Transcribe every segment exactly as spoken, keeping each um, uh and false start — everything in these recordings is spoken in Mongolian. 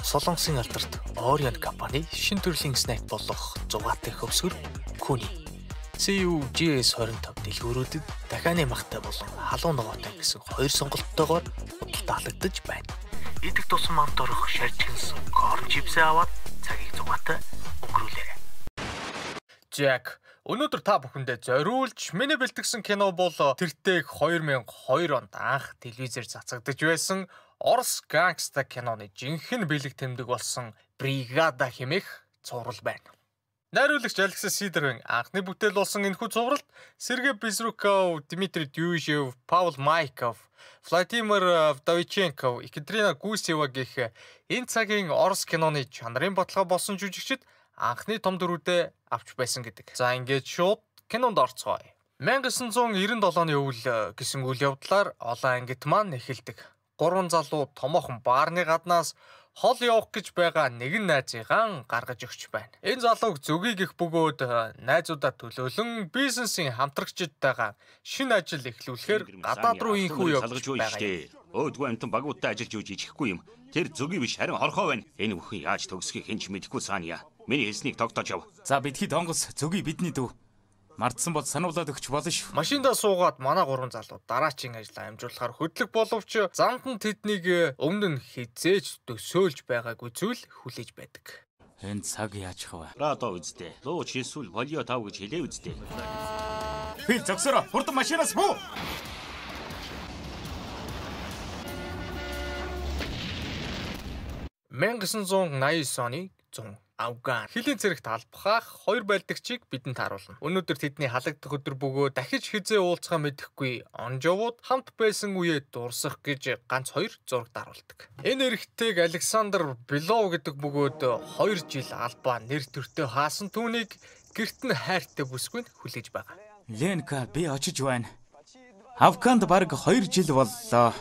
Солонгосын алдарт Orion компани шинэ төрлийн снэк болох зугаатай хөвсгөр Kuni си ю джи эс двадцать пять дэлгүүрүүдэд дахианы махтай болон халуун ногоотой гэсэн хоёр сонголттойгоор худалдаа халагдаж байна. Идэх тусам амт орох шаржигнсан корн чипсээ аваад цагийг зугаатай өнгөрүүлээрэй. Jack, өнөөдөр та бүхэндээ зориулж миний бэлтгэсэн кино бол тэртег две тысячи two онд анх телевизээр цацагдж байсан Орос гангста киноны жинхэнэ бэлэг тэмдэг болсон Бригада хэмээх цуврал байна. Найруулагч Алексей Сидоровын анхны бүтээл болсон энэхүү цувралд Сергей Безруков, Дмитрий Дюжев, Павел Майков, Владимир Вдовиченков, Екатерина Гусева гэх энэ цагийн Орос киноны чанарын бодлого болсон жүжигчид анхны том дүрүүдэд авч байсан гэдэг. За ингээд шууд кинонд орцгоё. 천구 девяносто седьмоны өвөл гэсэн үйл явдлаар олон ангит маань эхэлдэг. Гурван залуу томоохон баарны гаднаас хол явах гэж байгаа нэгэн найзыгаан гаргаж өгч байна. Энэ залууг зөгийг их бөгөөд найзуудаа төлөөлөн бизнесийн хамтрагчдтайгаа шинэ ажил эхлүүлэхээр гадаад руу инхүү явж байгаа. Өөдгөө амтан багуудтай ажиллаж үж ичихгүй юм. Тэр зөгийг биш харин хорхоо байна. Энэ бүхэн яаж төгсөхийг хинч мэдэхгүй цаана. Миний хэлснийг тогтоож ав. За бидхий донгос зөгийг бидний дүү. Мартсан бол сануулад өгч болно шүү. Машиндаа суугаад манай гурван залуу дараачийн ажлаа амжуулахаар хөдлөх боловч замд нь тэднийг өмнө нь хизээж төсөөлж байгаагүй зүйл хүлээж байдаг. Энэ цаг яаж хав? Радо үздэ. Лууч эсвэл болио тав гэж хэлээ үздэ. Би зогсороо. Хурдан машинаас буу. 천구 девяносто оны зун Афган хилийн цэрэгт албахах хоёр байлдагчийг бидэнд харуулна. Өнөөдөр тэдний халагдах өдөр бөгөө дахиж хизээ уулзахаа мэдэхгүй онжовууд хамт байсан үеэ дурсах гэж ганц хоёр зураг даруулдаг. Энэ эрэгтэйг Александр Белов гэдэг бөгөөд хоёр жил албаа нэр төртөө хаасан түүнийг гэрт нь хайртай бүсгүйнд хүлээж байгаа. Ленка, би очиж байна. Афганд бараг хоёр жил боллоо.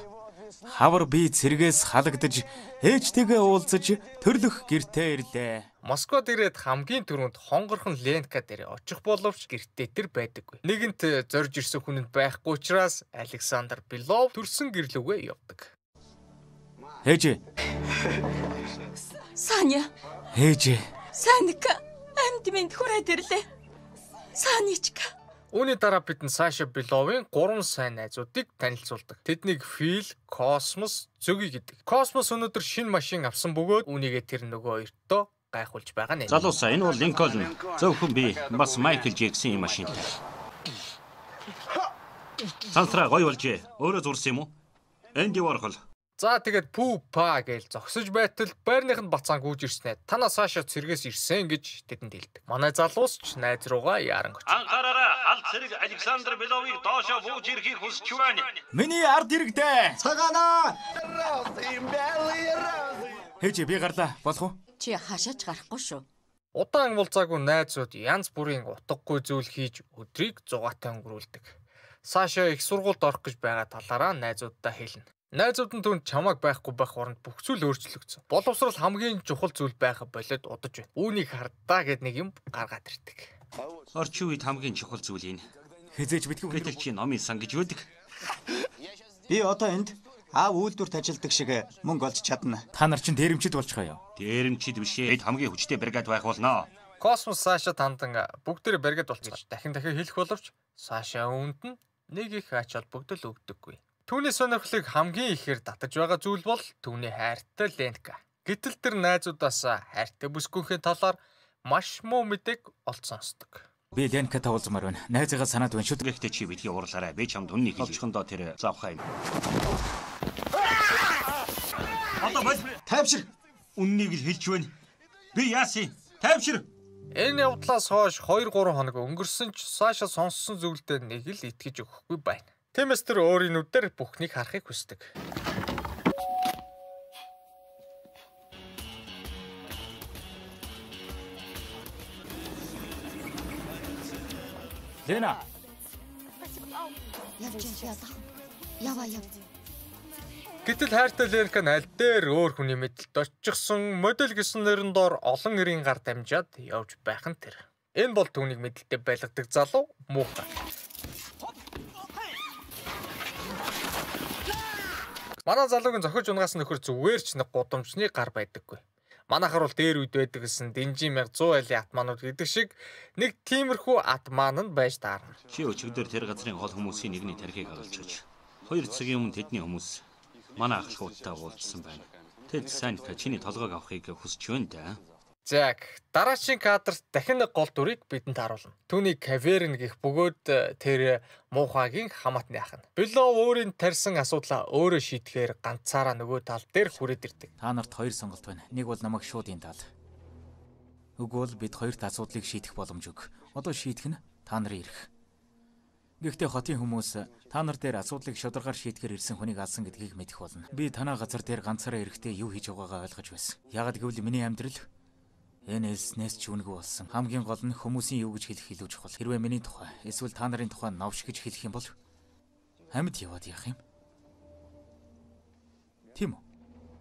Хавар би цэргээс халагдаж ээжтэйгээ уулзаж төрлөх гэртээ ирлээ. Москвад ирээд хамгийн түрүүнд хонгорхон Ленка дээр очих боловч гэртээ тэр байдаггүй. Нэгэнт зорж ирсэн хүнд байхгүй учраас Александр Белов төрсөн гэрлүүгээ явдаг. Ээж. Саня. Ээж. Саника амьд минь хүрээд ирлээ. Саничка. Үүний дараа бид Саша Беловын гурван сайн найзуудыг танилцуулдаг. Тэднийг Фил, Космос, Зөги гэдэг. Космос өнөөдөр шинэ машин авсан бөгөөд үүнийгээ тэр нөгөө хоёртоо гайхуулж байгаа нэ. Залуусаа энэ бол Линкольн. Зөвхөн би бас Майкл Джексийн машин. Сансра гоё болжээ. Өөрөө зурсан юм уу? Энди Warhol. За тэгээд пүү па гэж зогсож байтал байрныханд бацаан гүйж ирснээр танаа Саша цэргээс ирсэн гэж тэдэнд хэлдэг. Манай залуус ч найз руугаа яаран очив. Анхаараарай, алт цэрэг Александр Беловыг доошоо бууж ирэхийг хүсэж байна. Миний ард иргэдэ. Цагаана. Ээж би гарлаа. Болох уу? Чи хашаач гарахгүй шүү. Удаан уулзаагүй найзууд янз бүрийн утгагүй зүйл хийж өдрийг зугаатай өнгөрүүлдэг. Саша их сургуульд орох гэж байгаа талаараа найзуудтай хэлнэ. Найзууд нь түн чамайг байхгүй байх оронд бүх зүйл өөрчлөгдсөн. Боловсрол хамгийн чухал зүйл байха болоод удаж байна. Үүнийг хардаа гэд нэг юм гаргаад ирдэг. Орчин үед хамгийн чухал зүйл энэ. Хизээж битгүү гэдэг чи номын сан гэж үүдэг. Би одоо энд аав үйлдвэрт ажилдаг шиг мөнгө олж чадна. Та нар чинь дээрэмчид болчихоо юу? Дээрэмчид биш ээ. Хамгийн хүчтэй бригад байх болно. Космос Саша тандан бүгдээр бригад болчих гэж дахин дахин хэлэх боловч Саша үүнд нь нэг их ач холбогдол өгдөггүй. Түүний сонирхлыг хамгийн ихээр татаж байгаа зүйл бол түүний хайртай Ленка. Гэтэл тэр найзуудаас хайртай бүсгүйхээ талаар маш муу мэдээг олж сонсдог. Би Ленкатай уулзмаар байна. Найзыгаа санаад байна шүү. Гэхдээ чи битгий уурлаарай. Би чамд үннийг хэлчихэндөө тэр завхаа юм. Одоо бол Тайвшир. Үннийг л хэлж байна. Би яасан? Тайвшир. Энэ явдлаас хойш хоёр гурван хоног өнгөрсөн ч Саша сонссон зүйлдээ нэг л итгэж өгөхгүй байна. Тиймээс тэр өөрийн нүдээр бүхнийг харахыг хүсдэг. Лена. Яваа яв. Гэтэл хайртай Ленка нь аль дээр өөр хүний мэдлэлд очихсон модель гэсэн нэрэн доор олон нэрийн гар дамжаад явж байх нь тэр. Энэ бол түүнийг мэдлэлтэй байлгадаг залуу муухай. Манай залуугийн зохиж унгаас нөхөр зүгээр ч нэг гудамжны гар байдаггүй. Манайхаар бол дээр үед байдаг гэсэн Дэнжин мянга зуун айлын атманууд гэдэг шиг нэг тиймэрхүү атман нь байж таарна. Чи өчигдөр тэр газрын хол хүмүүсийн нэгний тархийг хагалчихж хоёр цагийн өмнө тэдний хүмүүс манай ахлахуудтай уулзсан байна. Тэд Санька чиний толгойг авахыг хүсэж байна да. Зак, дараагийн кадрт дахин нэг гол дүрийг бидэнд харуулна. Түүний Каверн гэх бөгөөд тэр муухайгийн хамаатны ах нь. Белов өөрийн тарьсан асуудлаа өөрөө шийдэхээр ганцаараа нөгөө тал дээр хүрээд ирдэг. Та нарт хоёр сонголт байна. Нэг бол намайг шууд энэ тал. Үгүй бол бид хоёрт асуудлыг шийдэх боломж өг. Одоо шийдэх нь та нарын эрх. Гэхдээ хотын хүмүүс та нар дээр асуудлыг шударгаар шийдэхээр ирсэн хүнийг алсан гэдгийг мэдэх болно. Би танаа газар дээр ганцаараа эрэхтэй юу хийж байгаагаа ойлгож байсан. Яагад гэвэл миний амьдрал энэ элснээс ч үнэгүй болсон. Хамгийн гол нь хүмүүсийн юу гэж хэлэх илүү чухал. Хэрвээ миний тухай эсвэл та нарын тухай новш гэж хэлэх юм бол амьд яваад яах юм? Тийм үү?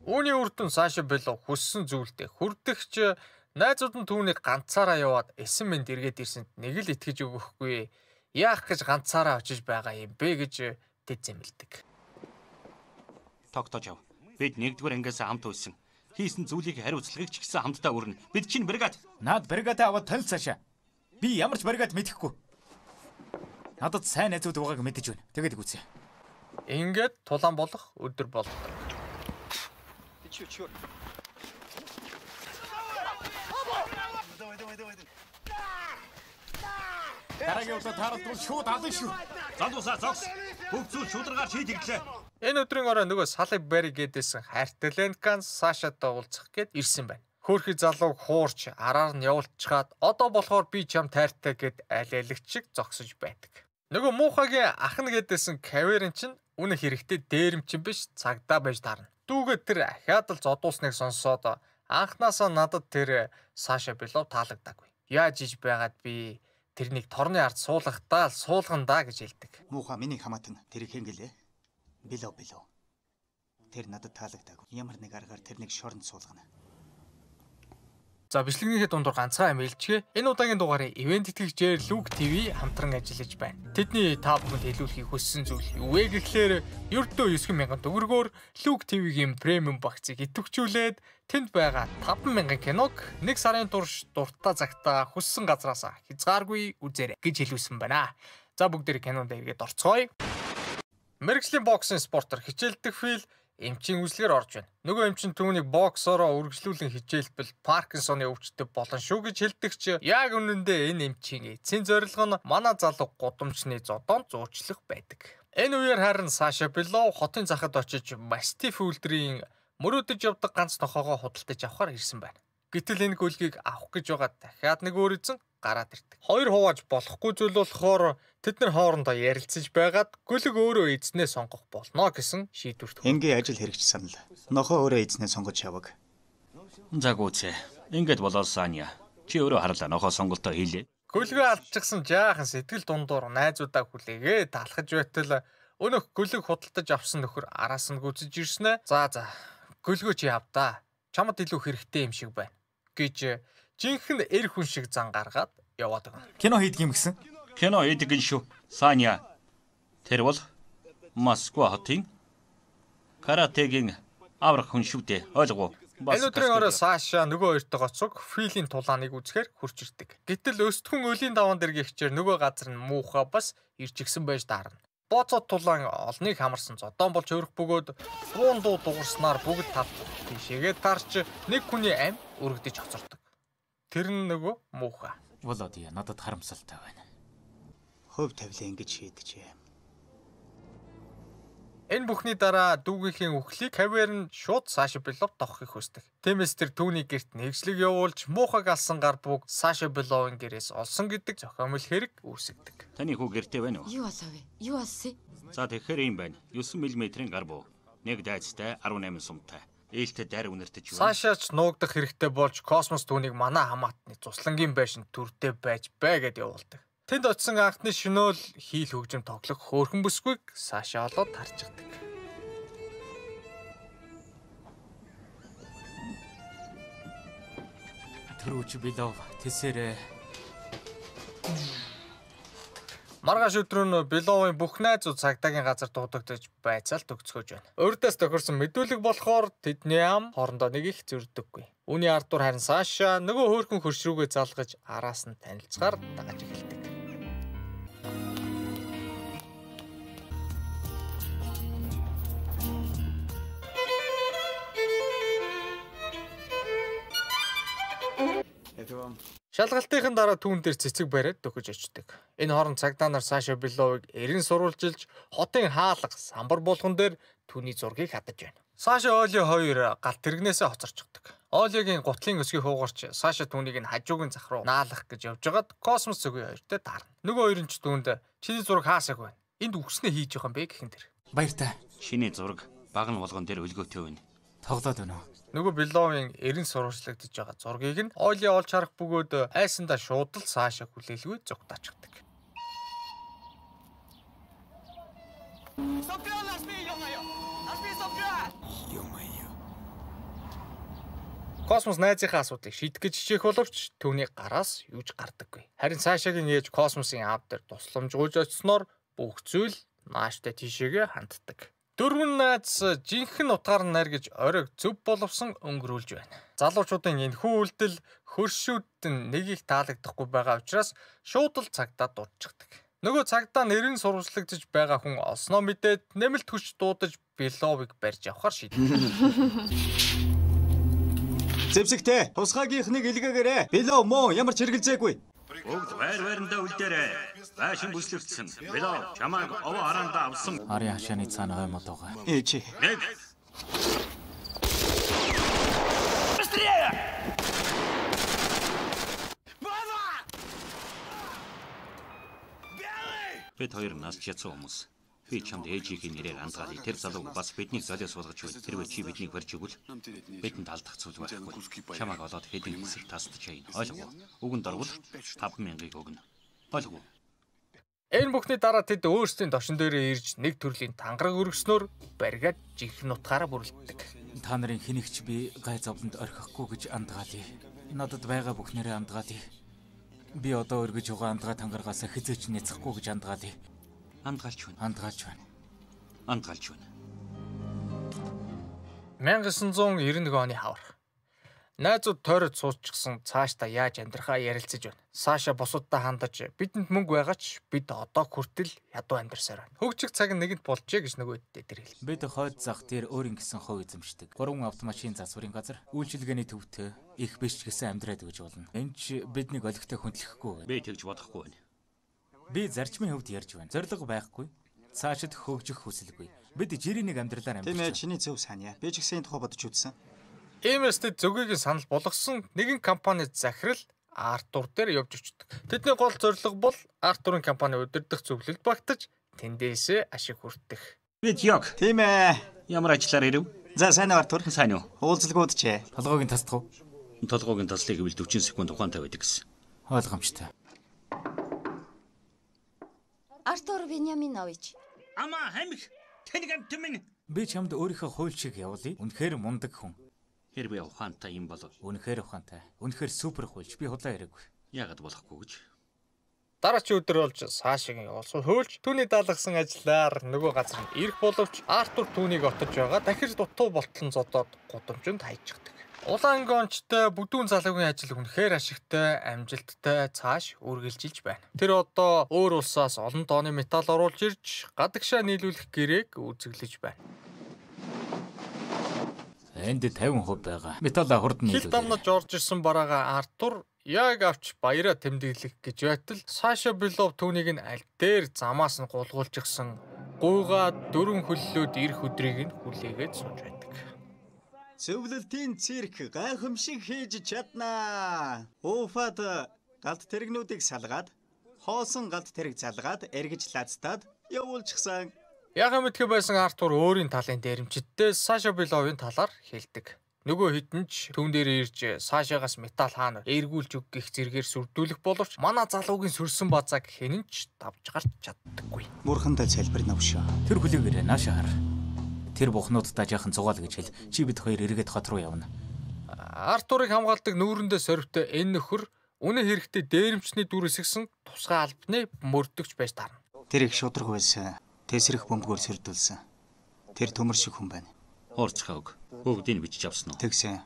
Үүний үр дүн Саша Белов хүссэн зүйлдээ хүрдэгч найзууд нь түүнийг ганцаараа яваад эсэн мэнд эргээд ирсэнд нэг л итгэж өгөхгүй. Яах гэж ганцаараа очиж байгаа юм бэ гэж тэд зэмлдэг. Тогтоож ав. Бид нэгдүгээр ангиас хамт үйсэн. Хийсэн зүйлийг хариуцлагыг ч гэсэн хамтдаа өрнө. Бид чинь бригад. Наад бригадаа аваад танилцаашаа. Би ямар ч бригад мэдэхгүй. Надад сайн найзууд байгааг мэдэж байна. Тэгээд гүцээ. Ингээд тулаан болох өдөр болдог. Дараагийн удаа таарлтвал шууд алан шүү. Залуусаа зогс. Бүх зүйл шударгаар шийдэглээ. Энэ өдрийн орой нөгөө Салли Барри гэдээсэн хайртай Ленкан Сашатай уулзах гээд ирсэн байна. Хөөрхий залууг хуурч араар нь явуулчихад одоо болохоор би чам тайртай гэд алиалагч шиг зогсож байдаг. Нөгөө муухагийн ах нь гэдээсэн Каверн чинь үнэ хэрэгтэй дээрэмчин биш цагдаа байж таарна. Дүүгээ тэр ахаад л зодуусныг сонсоод анхнаасаа надад тэр Саша Белов таалагдаагүй. Яаж иж байгаад би тэрнийг торны ард суулгахтаа л суулгандаа гэж хэлдэг. Муухай миний хамаатан тэрийг хэнгэлээ. Белов Белов. Тэр надад таалагдаагүй. Ямар нэг аргаар тэрнийг шоронд суулгана. За бичлэгнийхээ дундуур ганцхан амилчгээ. Энэ удаагийн дугаарыг ивент итгэгчээр Luke ти ви хамтран ажиллаж байна. Тэдний та бүхэнд хэлүүлэхийг хүссэн зүйл юу вэ гэхлээр ердөө девять мянган төгрөгөөр Luke ти ви-гийн премиум багцыг идэвхжүүлээд тэнд байгаа таван мянган киног нэг сарын турш дуртай цагтаа хүссэн газраас хязгааргүй үзээрэй гэж хэлүүлсэн байна. За бүгдээ кинонд эргээд орцгоё. Мэргэжлийн боксын спортер хичээлдэг Фил эмчийн үзлэгээр орж байна. Нөгөө эмчин түүнийг боксороо үргэлжлүүлэн хичээлбэл Паркинсоны өвчтөд болно шүү гэж хэлдэг ч яг үнэндээ энэ эмчийн эцсийн зорилго нь манай залуу гудамжны зодоонд зуучлах байдаг. Энэ үеэр харин Саша Белов хотын захад очиж Мастиф үлдрийн мөрөөдөж явдаг ганц тохоогоо худалдаж авахар ирсэн байна. Гэтэл энэ гөлгийг авах гэж байгаа дахиад нэг өөр эзэн гараад ирдэг. Хоёр хувааж болохгүй зүйл болохоор тэд нар хоорондоо ярилцаж байгаад гөлөг өөрөө эзнээ сонгох болно гэсэн шийдвэрт хүрсэн. Энгийн ажил хэрэгч санал. Нохоо өөрөө эзнээ сонгож яваг. За гүцээ. Ингээд болоод Саня. Чи өөрөө харлаа нохоо сонголтоо хийлээ. Гөлгөө алдчихсан жаахан сэтгэл дундуур найзуудаа хүлээгээ талхаж байтал өнөх гөлөг худалдаж авсан нөхөр араас нь гүцэж ирснэ. За за. Гөлгөө чи авдаа. Чамд илүү хэрэгтэй юм шиг байна гэж жинхэнэ эр хүн шиг зан гаргаад яваад байгаа. Кино хийдэг юм гисэн. Кино хийдэг нь шүү. Саня. Тэр бол Москва хотын каратегийн аврах хүн шүү дээ. Ойлгов уу? Энэ өдрийн орой Саша нөгөө хоёртой гоцог Филийн тулааныг үзэхээр хурч ирдэг. Гэтэл өстхөн өлийн даван дээр гихчээр нөгөө газар нь муухай бас ирж гисэн байж таарна. Боцот тулаан олныг хамарсан зодон болж өрөх бөгөөд буун дуу дуурснаар бүгд тав тийшээгээ тарч нэг хүний ам өргөдөж хоцордог. Тэр нь нөгөө муухай. Володя надад харамсалтай байна. Хөв тавилаа ингэж шийдэжээ. Энэ бүхний дараа дүүгийнхээ үхлийг Каверн шууд Саша Белов тоххыг хүсдэг. Тиймээс тэр түүний гэрт нэгжлэг явуулж муухайг алсан гар бүг Саша Беловын гэрээс олсон гэдэг зохиомл хэрэг үүсгдэг. Таны хүү гэртээ байна уу? Юу болов вэ? Юу болсон? За тэгэхээр юм байна. девять миллиметрийн гар буу. Нэг дайцтай арван найман сумтай. Ээлтэй дайр үнэртэж байна. Сашач нуугдах хэрэгтэй болж космос түүнийг манай хамаатны цуслангийн байшин төртэй байж бай гэд явуулдаг. Тэнд очисон анхны шөнөөл хийл хөгжим тоглох хөөрхөн бүсгүйг Саша олоод тарчдаг. Төрөөч Белов тэсэрэ. Маргааш өдрөө нь Беловын бүх найзууд цагдаагийн газар дуудагдаж байцаал төгсгөөж байна. Урдаас тохирсон мэдүүлэг болохоор тэдний ам хоорондоо нэг их зөрдөггүй. Үүний Артур харин Саша нөгөө хөөрхөн хөрш рүүгээ залгаж араас нь танилцахаар дагаж эхэлдэг. Шалгалтын дараа түүн дээр цэцэг бариад дөхөж очдөг. Энэ хооронд цагдаа нар Саша Беловыг эрен сурвалжилж хотын хаалга самбар болгон дээр түүний зургийг хадаж байна. Саша Оли хоёр галт тэрэгнээсээ хоцорчдаг. Олигийн гутлын өсгийг хуугарч Саша түүнийг нь хажуугийн зах руу наалах гэж явжгаад космос цөгийн хоёртой таарна. Нөгөө хоёр нь ч түүнд чиний зураг хаасаг байна. Энд үгснээ хийж байгаа юм бэ гэхэн тэр. Баяртай. Шиний зураг багн болгон дээр өлгөөтэй байна. Тоглоод байна уу? Нөгөө Беловын эрен сурвалжлагдж байгаа зургийг нь Оли олж харах бөгөөд айсандаа шууд л Саша хүлээлгүй зугтаачдаг. Космос найзынхаа асуудлыг шийдэх гэж хичээх боловч түүний гараас юуж гардаггүй. Харин Сашагийн ээж космосын аав дээр тусламжгүйж очсноор бүх зүйл нааштай тийшээгээ ханддаг. Дөрвөн найз жинхэнэ утгаар найр гэж оройг зөв боловсон өнгөрүүлж байна. Залуучуудын энэхүү үйлдэл хөршүүд нь нэг их таалагдахгүй байгаа учраас шууд л цагдаа дуудчихдаг. Нөгөө цагдаа нэрийн сурвалжлагдж байгаа хүн олсноо мэдээд нэмэлт хүч дуудаж Беловыг барьж авахар шийдсэн. Зэвсэгтэй тусгаагийнхныг илгээгээрэй. Белов муу ямар ч хэрэгэлзээгүй. Бүгд байр байрандаа үлдээрэй. Байшин бүслэгдсэн. Белов чамайг овоо хараандаа авсан. Арын хашааны цаана хоймод байгаа. Ээжи. Нэг. Бид хоёр нас чацсан хүмүүс. Би чамд ээжигийн нэрээр андгаалъя. Тэр залуу бас биднийг золиос болгож байна. Тэр чи биднийг барьж игвэл бидэнд алдах зүйл байхгүй. Чамайг олоод хэдийн хэсэг тасдаж байна. Ойлгов. Үгэнд орвол таван мянгаыг өгнө. Ойлгов. Энэ бүхний дараа тэд өөрсдийн тошин дээрээ ирж нэг төрлийн тангараг өргөснөөр баригад жинхэнэ утгаараа бүрлддэг. Та нарын хэнийгч би гай зовлонд орхихгүй гэж андгаалъя. Надад байгаа бүхнээрээ андгаалъя. Би одоо өргөж байгаа андгаа тангарагаас хизээч няцахгүй гэж андгаалъя. Андгаалж байна. Андгаалж байна. Андгаалж байна. мянга девятьсот девяносто один оны хавар. Найзууд тойроод суучсан цаашдаа яаж амьдрахаа ярилцаж байна. Саша бусуудтай хандаж бидэнд мөнгө байгаач бид одоо хүртэл ядуу амьдарсаар байна. Хөгжиг цаг нэгэнт болжээ гэж нөгөөддөө тэр хэл. Бид хойд зах дээр өөрийн гэсэн хов эзэмшдэг. Гурван автомашин засварын газар үйлчилгээний төвтэй их биш ч гэсэн амьдраад гэж болно. Энд ч биднийг олигтой хүндлэхгүй. Би тэгж бодохгүй байна. Би зарчмын хөвд ярьж байна. Зориг байхгүй. Цаашид хөгжих хүсэлгүй. Бид жирийн нэг амьдралаар амьдарч. Тийм ээ, чиний зөв санаа. Би ч гэсэн энэ тухай бодож үзсэн. Иймээстэй зөвгийн санал болгосон нэгэн компани захирал Артур дээр явж очдог. Тэдний гол зорилго бол Артурын компани удирдах зөвлөлд багтаж тэндээсээ ашиг хүртэх. Бид яг. Тийм ээ. Ямар ажиллаар ирэв? За сайн уу Артур? Сайн уу? Уулзалгууд ч. Толгойг тасдах уу? Толгойг таслахыг гэвэл forty секунд ухаантай байдаг гэсэн. Ойлгомжтой. Артур Вениаминович. Ама хамиг тэнэг амт минь. Би чамд өөрийнхөө хууль шиг явуулъя. Үнэхээр мундаг хүн. Хэр би ухаантай юм бол Үнэхээр ухаантай. Үнэхээр супер хуульч. Би худлаа яриаггүй. яагаад болохгүй гэж. Дараач өдөр болж Сашагийн олсон хөөлж түүний даалгасан ажиллаар нөгөө газар нь ирэх боловч Артур түүнийг отож байгаа дахиж дутуу болтлон зодоод гудамжинд хайчихдаг. Улаан гончтой бүдүүн залуугийн ажил үнэхээр ашигтай, амжилттай цааш үргэлжилж байна. Тэр одоо өөр улсаас олон тонны металл оруулж ирж гадагшаа нийлүүлэх гэрээг үзэглэж байна. Энд фifty percent байгаа. Металла хурд Хил нийлүүлээ. дамнаж орж ирсэн бараага Артур яг авч баяраа тэмдэглэх гэж байтал Саша Белов түүнийг нь аль дээр замаас нь гулгуулж гисэн гуйгаад дөрвөн хөллөөд ирэх өдрийг нь хүлээгээд сууж байдаг. Зөвлөлтийн цирк гайхамшиг хийж чаднаа. Уфад галт тэрэгнүүдийг салгаад, хоосон галт тэрэг залгаад, эргэж лацтаад явуулчихсан. Яга мэдхэ байсан Артур өөрийн талын дээрэмчидтэй Саша Беловын талаар хэлдэг. Нөгөө хитэн ч түүн дээр ирж Сашагаас металл хаана эргүүлж өгөх зэргээр сүрдүүлэх боловч манай залуугийн сүрсэн базааг хэн ч давж гарч чаддаггүй. Мурхантай залбир навшаа. Тэр хүлээгээрээ нааша хар. Тэр бухнуудтай жаахан зугаал гэж хэл. Чи бид хоёр эргээд хот руу явна. Артурыг хамгаалдаг нүүрэндээ сорвтой энэ нөхөр үнэ хэрэгтэй дээрэмчний дүр эсгсэн тусгай албаны мөрдөгч байж таарна. Тэр их шудраг байсан. Тэсрэх бөмбөгөөр сөрдүүлсэн. Тэр төмөр шиг хүн байна. Уурцхааг. Бүгдийг бичиж авсан уу? Тэгсэн.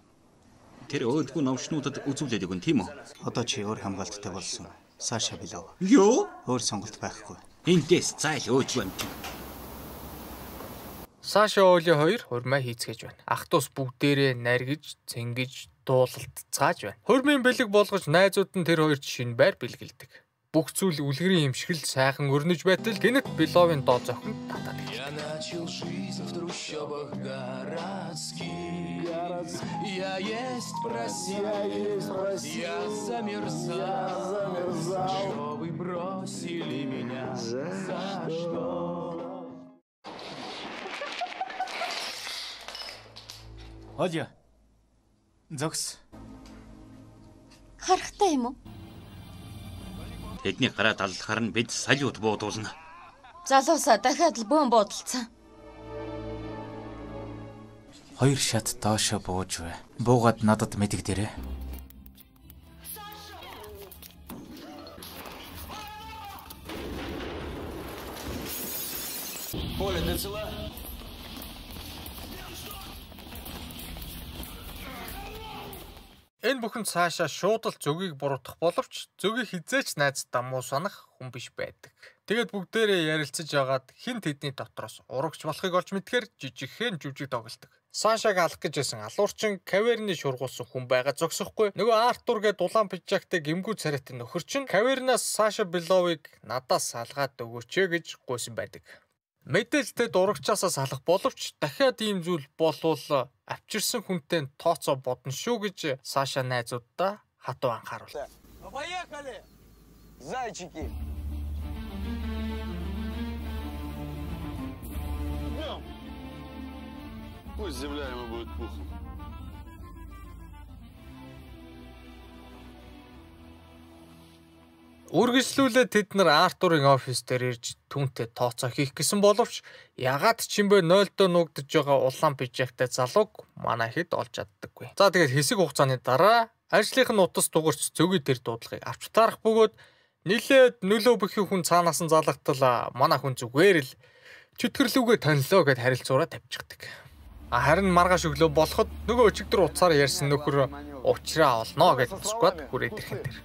Тэр өөдгөө новшнуудад үзүүлээд өгөн тийм үү? Одоо чи өөр хамгаалттай болсон. Саша Белов. Юу? Өөр сонголт байхгүй. Эндээс зайл өөдгөө амт. Саша Оли хоёр хурмаа хийцгээж байна. Ах дус бүгдээрээ наргиж, цэнгэж, дуулалцгааж байна. Хурмын бэлэг болгож найзууд нь тэр хоёрт шинэ байр бэлгэлдэг. Бүх зүйл үлгэрийн юм шиг л сайхан өрнөж байтал гинэт Беловын доо зохинд татаад ирж байна. Я есть просил, я замерзал, что вы бросили меня, за что? Оля. Зогс. Харахтай юм уу? Тэдний гараа даллахаар нь бид салют буудуулна. Залуусаа дахиад л бөөн буудалцсан. Хоёр шат доошо бууж бай. Буугаад надад мэдэгдэрээ. Поля, ты цела? Энэ бүхэн цаашаа шууд л зөгийг буруутгах боловч зөгийг хизээч найз дамуу санах хүн биш байдаг. Тэгээд бүгдээрээ ярилцаж ягаад хин тэдний дотроос урагч болохыг олж мэдхээр жижигхэн жүжиг тоглолдог. Сашаг алах гэж байсан алуурчин каверны шургуулсан хүн байгаа зогсохгүй. Нөгөө Артур гээд дулаан пижактай гимгүү царайтай нөхөр чинь кавернаас Саша Беловыг надаас салгаад өгөөч гэж гуйсан байдаг. Мэдээлэлтэй дурагчаасаа салах боловч дахиад ийм зүйл болвол авчирсан хүнтэй тооцоо бодно шүү гэж Саша найзуудаа хатуу анхааруул. Поехали! Зайчики! Пусть земля ему будет пухом. Үргэлжлүүлээд тэд нар Артурын офис дээр ирж түүнтэй тооцоо хийх гэсэн боловч ягаад ч юм бэ нойлдоо нуугдж байгаа улаан пижактай залууг манай хэд олж чаддаггүй. За тэгээд хэсэг хугацааны дараа ажлынх нь утас дугарч зөгийн дээр дуудлагыг авч таарах бөгөөд нилээд нөлөө бүхий хүн цаанаас нь залгатал манай хүн зүгээр л чөтгөрлүүгээ танилоо гэд харилцаараа тавьчихдаг. Харин маргааш өглөө болоход нөгөө өчигдөр уцаар ярьсан нөхөр уучраа олноо гэж тусгаад хүрээд ирхэн тэр.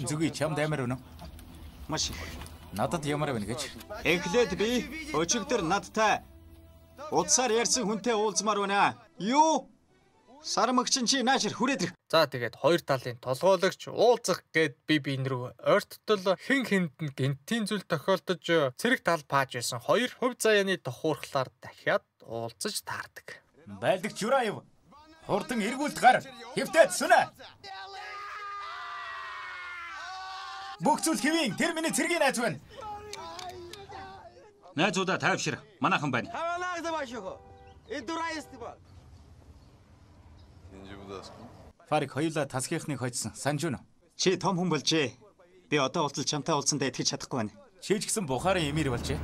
Зүги чамд амар үнэ? Маш их. Надад ямар байна гэж. Эхлээд би өчигдөр надтай удсаар ярьсан хүнтэй уулзмаар байна. Юу? Сармагчин чи наашир хүрээд ирэх. За тэгээд хоёр талын толгойлогч уулзах гээд би биен рүү ойрттол хэн хэнд нь гинтийн зүйл тохиолдож цэрэг тал пааж байсан хоёр хувь заяаны тохуурхлаар дахиад уулзаж таардаг. Байлдагч Юраев. Хурдан эргүүлд гар. Хэвтээд сүнэ. Бүх зүйл хэвэн тэр миний цэргийн найз байна. Найзуудаа тайвшир. Манайхан байна. Фарик хоёулаа тасгийнхныг хоцсон. Санж юу? Чи том хүн болжээ. Би одоо уулзал чамтай уулзсандаа итгэж чадахгүй байна. Чи ч гэсэн бухарын эмэр болжээ.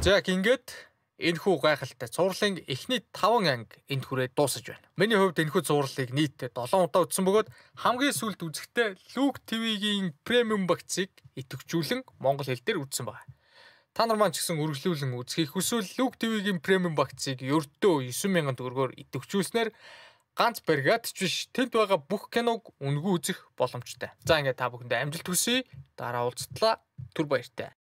За ингээд энэхүү гайхалтай цувралын эхний таван анги энд хүрээд дуусаж байна. Миний хувьд энэхүү цувралыг нийтдээ долоон удаа үзсэн бөгөөд хамгийн сүүлд үзэхдээ Luke ти ви-гийн премиум багцыг идэвхжүүлэн монгол хэл дээр үзсэн байна. Та нар маань ч гэсэн үргэлжлүүлэн үзхийг хүсвэл Luke ти ви-гийн премиум багцыг ердөө девять мянган төгрөгөөр идэвхжүүлснээр ганц бригад ч биш тэнд байгаа бүх киног үнгүй үзэх боломжтой. За ингээд та бүхэндээ амжилт хүсье. Дараа уулзтлаа. Түр баяртай.